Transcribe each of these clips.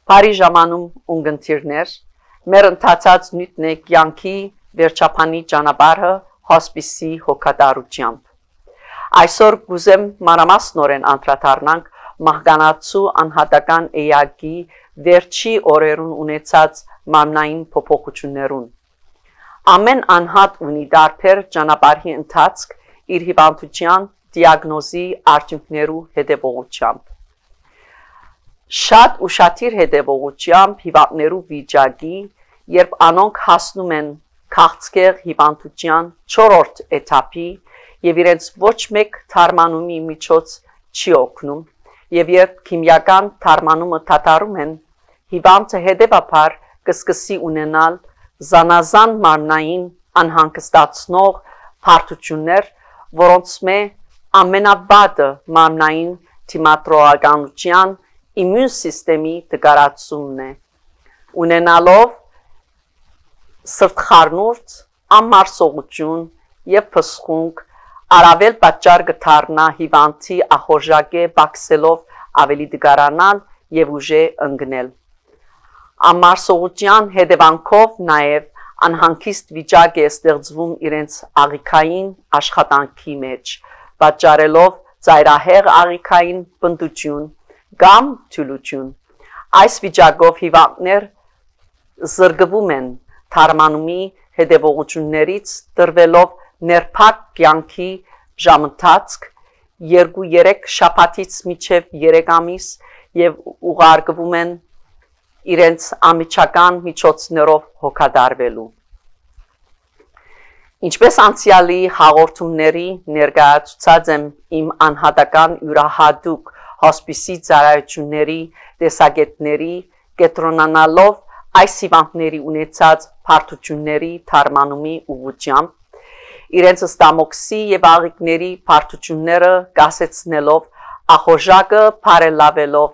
Բարի ժամանում ունգընտիրներ, մեր ընթացած նյութն է կյանքի վերջապանի ճանապարհը հոսպիսի հոգատարությամբ։ Այսօր կուզեմ մանրամասնորեն անդրադառնանք մահկանացու անհատական էակի վերջի օրերուն ունեցած մարմնային փոփոխություններուն։ Ամեն անհատ ունի դարբեր ճանապարհի ընթացք իր հիվանդության դիագնոզի արդյունքներու հետևողությամբ։ Շատ ուշադիր հետևողությամբ հիվանդներու վիճակի, երբ անոնք հասնում են քաղցկեղ հիվանդության 4-րդ էթափի եւ իրենց ոչ մեկ թարմանումի միջոց չի օգնում, եւ երբ քիմիական թարմանումը դադարում են, հիվանդը հետեւաբար կսկսի ունենալ զանազան մարմնային անհանգստացնող բարդություններ, որոնց ամենավատը մարմնային թիմատրողականության իմուն սիստեմի դգարացումն է, ունենալով սրտխառնուրդ, անմարսողություն եւ փսխունք, առավել պատճառ կդառնա հիվանդի ախորժակե բացելով ավելի դգարանալ եւ ուժե ընկնել։ Անմարսողության հետևանքով նաեւ անհանգիստ վիճակ է ստեղծվում իրենց աղիքային աշխատանքի մեջ, պատճառելով ծայրահեղ աղիքային բնդություն կամ թուլություն։ Այս վիճակով հիվանդներ զրկվում են թարմանումի հետևողություններից, տրվելով ներփակ կյանքի ժամընթացք 2-3 շաբաթից մինչև 3 ամիս եւ ուղարկվում են իրենց ամիջական միջոցներով հոգադարվելու։ Ինչպես անցյալի հաղորդումների ներկայացուցած եմ իմ անհատական յուրահատուկ հոսպիսի ծառայությունների տեսակետների կենտրոնանալով այս հիվանդների ունեցած բարդությունների թարմանումի ուղղությամբ, իրենց ստամոքսի եւ աղիքների բարդությունները կասեցնելով, ախորժակը բարելավելով,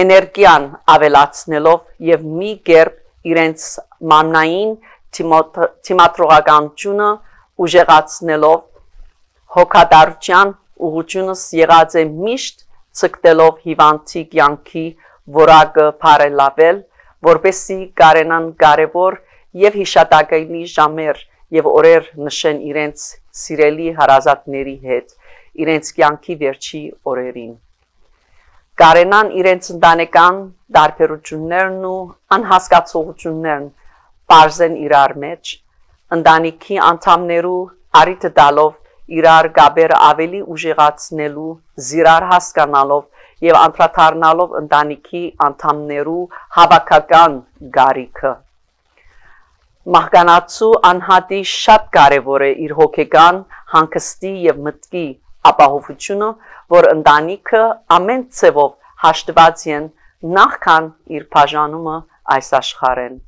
էներգիան ավելացնելով եւ մի կերպ իրենց մարմնային թիմատրողականությունը ուժեղացնելով, հոգատարության ուղղությունս եղած է միշտ ցկտելով հիվանդի կյանքի որակը բարելավել, որպեսզի կարենան կարևոր եւ հիշատակելի ժամեր եւ օրեր նշեն իրենց սիրելի հարազատների հետ, իրենց կյանքի վերջի օրերին։ Կարենան իրենց ընտանեկան դարբերություններն ու անհասկացողություններն բարձեն իրար մեջ, ընտանիքի անդամներու առիթ տալով իրար գաբերը ավելի ուժեղացնելու, զիրար հասկանալով եւ անդրադառնալով ընտանիքի անդամներու հավաքական գարիքը։ Մահկանացու անհատի շատ կարևոր է իր հոգեկան հանգստի եւ մտքի ապահովությունը, որ ընտանիքը ամեն ցևով հաշտված են նախքան իր բաժանումը այս աշխարհեն։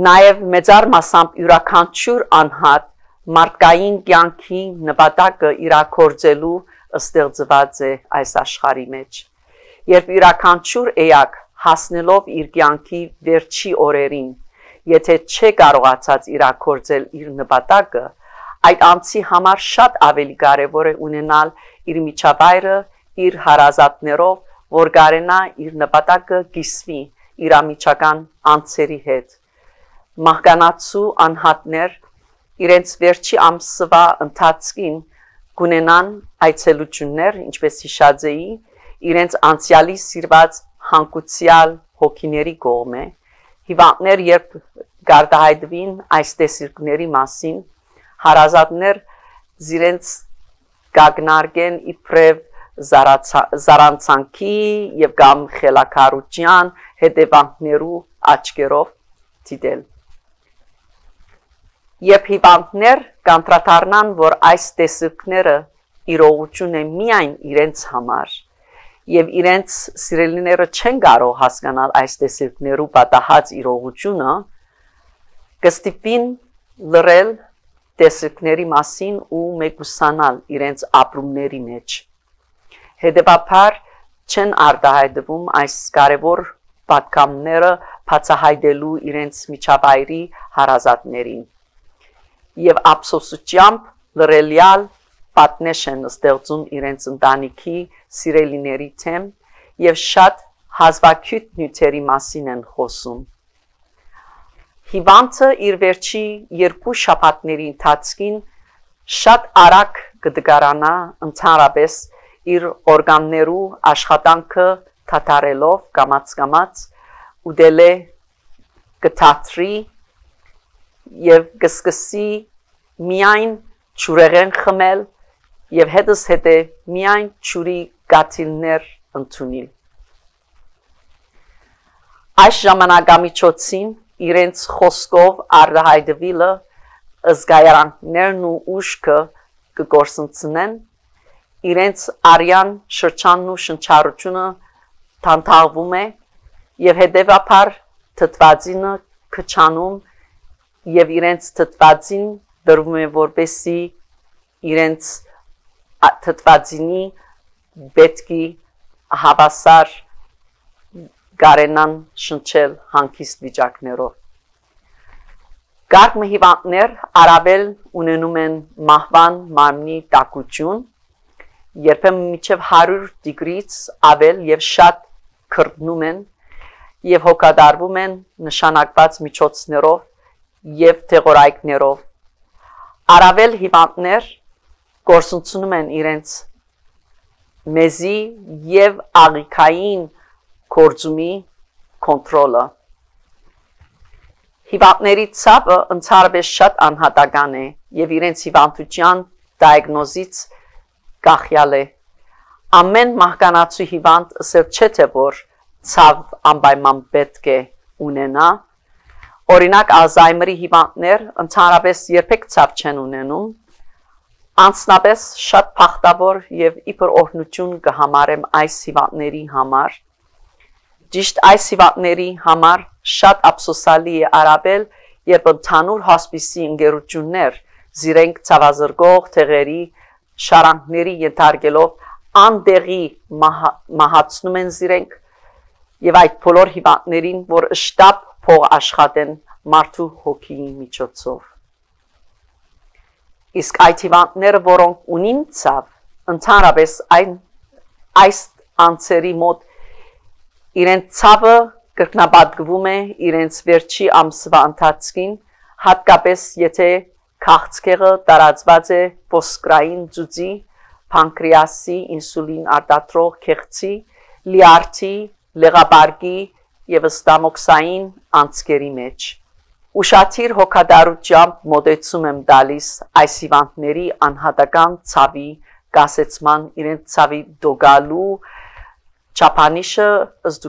Նաեւ մեծար մասամբ յուրաքանչյուր անհատ մարդկային կյանքի նպատակը իրագործելու ստեղծված է այս աշխարհի մեջ։ Երբ յուրաքանչյուր էակ հասնելով իր կյանքի վերջի օրերին, եթե չէ կարողացած իրագործել իր նպատակը, այդ անձի համար շատ ավելի կարևոր է ունենալ իր միջավայրը իր հարազատներով, որ կարենա իր նպատակը կիսվի իր ամիջական անձերի հետ։ Մահկանացու անհատներ իրենց վերջի ամսվա ընթացքին կունենան այցելություններ, ինչպես հիշած էի, իրենց անցյալի սիրված հանգուցյալ հոգիների կողմէ, հիվանդներ երբ գարտահայտվին այս տեսիլքների մասին, հարազատներ զիրենց կագնարկեն իբրև զարանցանքի եւ կամ խելակարության հետևանքներու աչքերով դիտել։ Երբ հիվանդներ կանտրադառնան, որ այս տեսիլքները իրողություն է միայն իրենց համար, եւ իրենց սիրելիները չեն կարող հասկանալ այս տեսիլքներու պատահած իրողությունը, կստիպին լռել տեսիլքների մասին ու մեկուսանալ իրենց ապրումների մեջ։ Հետևաբար չեն արտահայտվում այս կարևոր պատգամները բացահայտելու իրենց միջավայրի հարազատներին։ Եվ ափսոսությամբ լրելյալ պատնեշ են ստեղծում իրենց ընտանիքի սիրելիների թեմ եւ շատ հազվագյուտ նյութերի մասին են խոսում։ Հիվանդը իր վերջի 2 շաբաթների ընթացքին շատ արագ կդգարանա ընդհանրապես իր օրգաններու աշխատանքը թաթարելով կամաց ուդել է կթատրի եւ կսկսի միայն ջուրեղեն խմել եւ հետս հետե միայն ջուրի գաթիլներ ընդունել։ Այս ժամանակամիջոցին իրենց խոսքով արտահայտվելը զգայարանքներն ու ուշքը կգործընծնեն, իրենց արյան շրջանն ու շնչառությունը թանթաղվում է եւ հետեւաբար թթվածինը քչանում եւ իրենց թթվածին դրվում է որպեսի իրենց թթվածինի պետքի հավասար գարենան շնչել հանգիստ վիճակներով։ Գարկ հիվանդներ առավել ունենում են մահվան մարմնի տաքություն, երբեմն մինչև 100 դիգրից ավել եւ շատ քրտնում են եւ հոգադարվում են նշանակված միջոցներով եւ թեղորայքներով։ Առավել հիվանդներ գործունեություն են իրենց մեզի եւ աղիքային կորձումի կոնտրոլը։ Հիվանդների ցավը ընդհանրապես շատ անհատական է եւ իրենց հիվանդության դիագնոզից գախյալ է։ Ամեն մահկանացու հիվանդ ասել չէ թե որ ցավ անպայման պետք է ունենա։ Օրինակ Ալզայմերի հիվանդներ ընդհանրապես երբեք ցավ չեն ունենում։ Անցնապես շատ փախտավոր եւ իբր օրհնություն կհամարեմ այս հիվանդների համար։ Ճիշտ այս հիվանդների համար շատ ափսոսալի է առավել, երբ ընդհանուր հոսպիսի ընկերություններ զիրենք ցավազրկող թեղերի շարանքների ենթարկելով անդեղի մահացնում են զիրենք եւ այդ բոլոր հիվանդներին, որ շտապ փող աշխատեն մարդու հոգիի միջոցով։ Իսկ այդ հիվանդները, որոնք ունին ցավ, ընդհանրապես այս անձերի մոտ իրենց ցավը կրկնապատկվում է իրենց վերջի ամսվա ընթացքին, հատկապես եթե քաղցկեղը տարածված է ոսկրային ծուծի, փանկրեասի, ինսուլին արտադրող քեղցի, լիարդի, լեղապարկի եւ ստամոքսային անցքերի մեջ։ Ուշադիր հոգադարությամբ մոտեցում եմ տալիս այս հիվանդների անհատական ցավի կասեցման իրենց ցավի դոգալու չափանիշը ըստ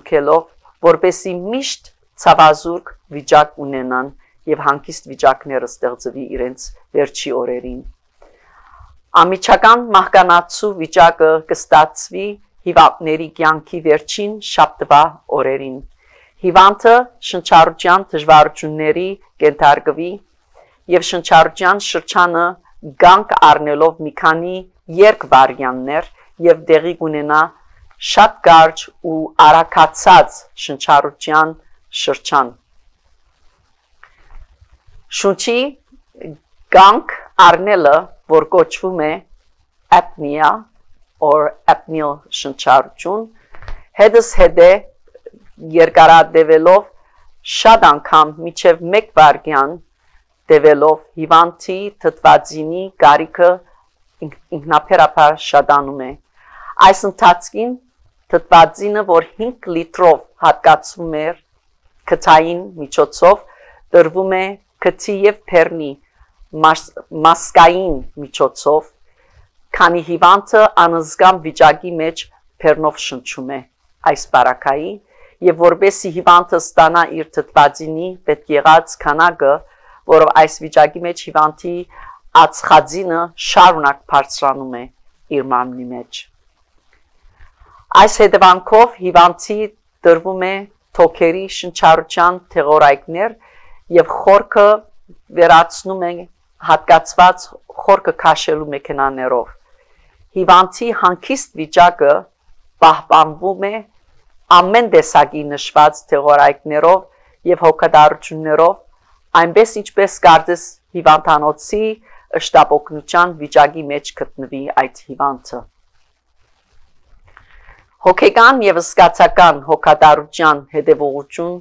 որպեսի միշտ ցավազուրկ վիճակ ունենան եւ հանգիստ վիճակները ստեղծվի իրենց վերջի օրերին։ Ամիջական մահկանացու վիճակը կստացվի հիվանդների կյանքի վերջին շաբաթվա օրերին։ Հիվանդը շնչառության դժվարությունների կենթարկվի եւ շնչառության շրջանը գանք առնելով մի քանի երկվարյաններ եւ դեղի կունենա շատ կարճ ու արագացած շնչառության շրջան։ Շունչի գանք առնելը, որ կոչվում է apnea or apneal շնչառություն, հետս հետե երկարատևելով շատ անգամ մինչև 1 վայրկյան տևելով հիվանդի թթվածինի կարիքը ինքնաբերաբար շատանում է։ Այս ընթացքին թթվածինը, որ 5 լիտրով հատկացվում էր քթային միջոցով, տրվում է քթի եւ բեռնի մասկային միջոցով, քանի հիվանդը անզգամ վիճակի մեջ բեռնով շնչում է այս բարակայի եւ որբեսի հիվանդը ստանա իր թթվածինի պետք եղած քանակը, որով այս վիճակի մեջ հիվանդի ածխածինը շարունակ բարձրանում է իր մարմնի մեջ։ Այս հետևանքով հիվանդի տրվում է թոքերի շնչառության թեղորայքներ եւ խորքը վերացնում է հատկացված խորքը քաշելու մեքենաներով։ Հիվանդի հանգիստ վիճակը պահպանվում է ամեն տեսակի նշված թեղորայքներով եւ հոգադարություններով, այնպես ինչպես կարծես հիվանդանոցի շտապօգնության վիճակի մեջ գտնվի այդ հիվանդը։ Հոգեկան եւ զգացական հոգատարության հետևողություն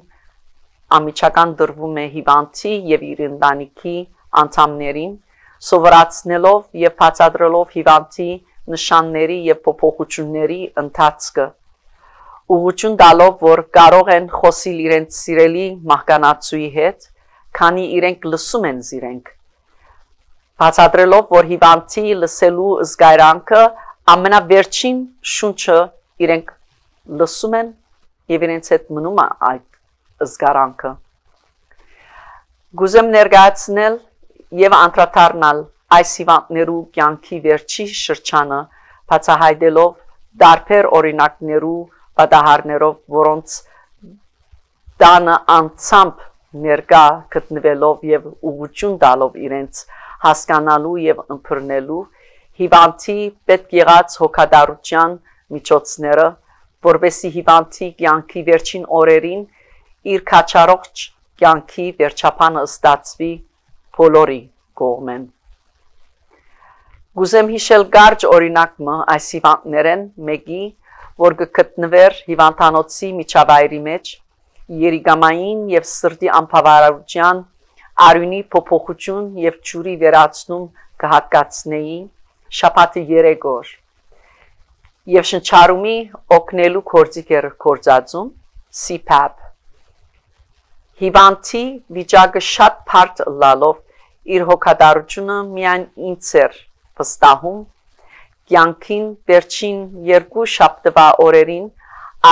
ամիջական դրվում է հիվանդի եւ իր ընտանիքի անդամներին, սովորացնելով եւ բացատրելով հիվանդի նշանների եւ փոփոխությունների ընթացքը, ուղղություն տալով, որ կարող են խոսել իրենց սիրելի մահկանացուի հետ, քանի իրենք լսում են իրենք, բացատրելով, որ հիվանդի լսելու զգայրանքը ամենավերջին շունչը իրենք լսում են եւ իրենց հետ մնում է այդ զգարանքը։ Գուզեմ ներկայացնել եւ անդրադառնալ այս հիվանդներու կյանքի վերջի շրջանը, բացահայտելով տարբեր օրինակներու պատահարներով, որոնց տանը անցամբ ներկա գտնվելով եւ ուղղություն տալով իրենց հասկանալու եւ ըմբռնելու հիվանդի պետք եղած հոգատարության միջոցները, որովհետեւ հիվանդի կյանքի վերջին օրերին իր քաչարող կյանքի վերջապանը ստացվի բոլորի կողմեն։ Գուզեմ հիշել կարճ օրինակը այս հիվանդներեն մեկի, որ գտնվեր հիվանդանոցի միջավայրի մեջ, երիկամային եւ սրտի անբավարարության արյունի փոփոխություն եւ ջուրի վերացնում կհատկացնեի շաբաթի 3 օր եւ շնչառումի օգնելու գործիք էր գործածում CPAP հիվանդի վիճակը շատ բարդ լալով իր հոգատարությունը միայն ինձ էր վստահում կյանքին վերջին 2 շաբթվա օրերին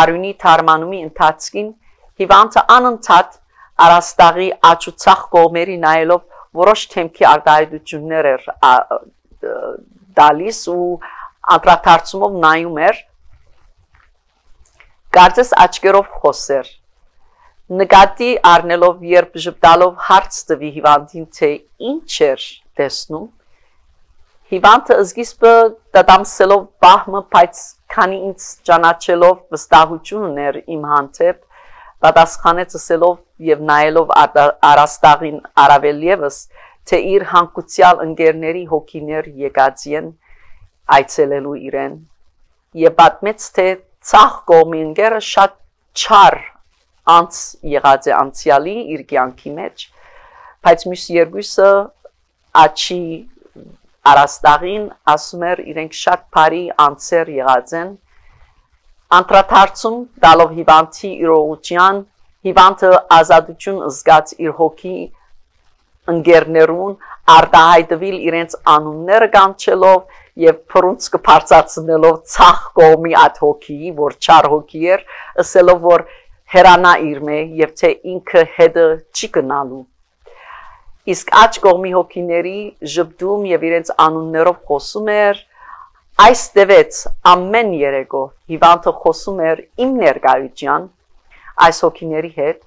արյունի թարմանումի ընթացքին հիվանդը անընդհատ արաստաղի աճուցախ կողմերի նայելով որոշ թեմքի արտահայտություններ էր դալիս ու անդրադարձումով նայում էր կարծես աչքերով խոսեր նկատի առնելով երբ ժպտալով հարց տվի հիվանդին թե ինչ էր տեսնում հիվանդը սկիզբը դադամսելով բահմը բայց քանի ինձ ճանաչելով վստահություն ուներ իմ հանդեպ պատասխանեց ասելով եւ նայելով արաստաղին առավել եւս թե իր հանգուցյալ ընկերների հոգիներ եկած են այցելելու իրեն եւ պատմեց թե ցախ կողմի ընկերը շատ չար անց եղած է անցյալի իր կյանքի մեջ բայց մյուս երկուսը աչի արաստաղին ասում էր իրենք շատ բարի անցեր եղած են անդրադարձում տալով հիվանդի իրողության հիվանդը ազատություն զգաց իր հոգի ընկերներուն արտահայտվել իրենց անունները կանչելով եւ փռունցքը բարձրացնելով ցախ կողմի այդ հոգի որ չար հոգի էր ասելով որ հերանա իր մե եւ թե ինքը հետը չի գնալու իսկ աչ կողմի հոգիների ժպտում եւ իրենց անուններով խոսում էր այս տևեց ամեն երեկո հիվանդը խոսում էր իմ ներկայության այս հոգիների հետ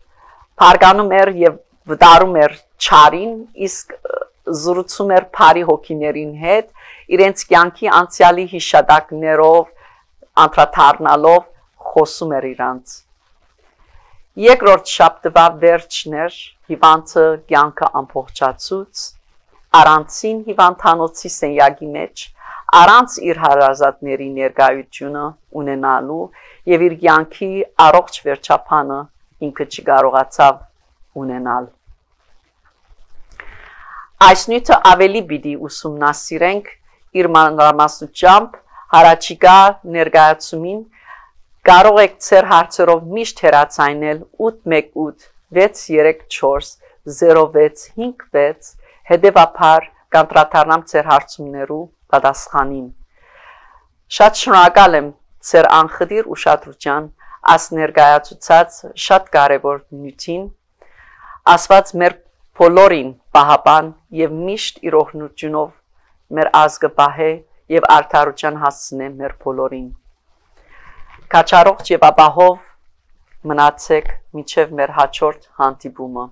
բարգանում էր եւ վտարում էր չարին իսկ զրուցում էր բարի հոգիներին հետ իրենց կյանքի անցյալի հիշատակներով անդրադառնալով խոսում էր իրանց երկրորդ շաբթվա վերջն էր հիվանդը կյանքը ամբողջացուց առանցին հիվանդանոցի սենյակի մեջ առանց իր հարազատների ներկայությունը ունենալու եւ իր կյանքի առողջ վերջապանը ինքը չկարողացավ ունենալ այս նյութը ավելի պիտի ուսումնասիրենք իր մանրամասնությամբ հարաճիգա ներկայացումին կարող եք ձեր հարցերով միշտ հեռացայնել 818 634 0656 հետևաբար կանտրադառնամ ձեր հարցումներու պատասխանին շատ շնորհակալ եմ ձեր անխտիր ուշադրության աս ներկայացուցած շատ կարևոր նյութին ասված մեր բոլորին պահապան եւ միշտ իր օգնությունով մեր ազգը պահե եւ արդարության հասցնե մեր բոլորին Կաչարող եւ ապահով մնացեք մինչև մեր հաջորդ հանդիպումը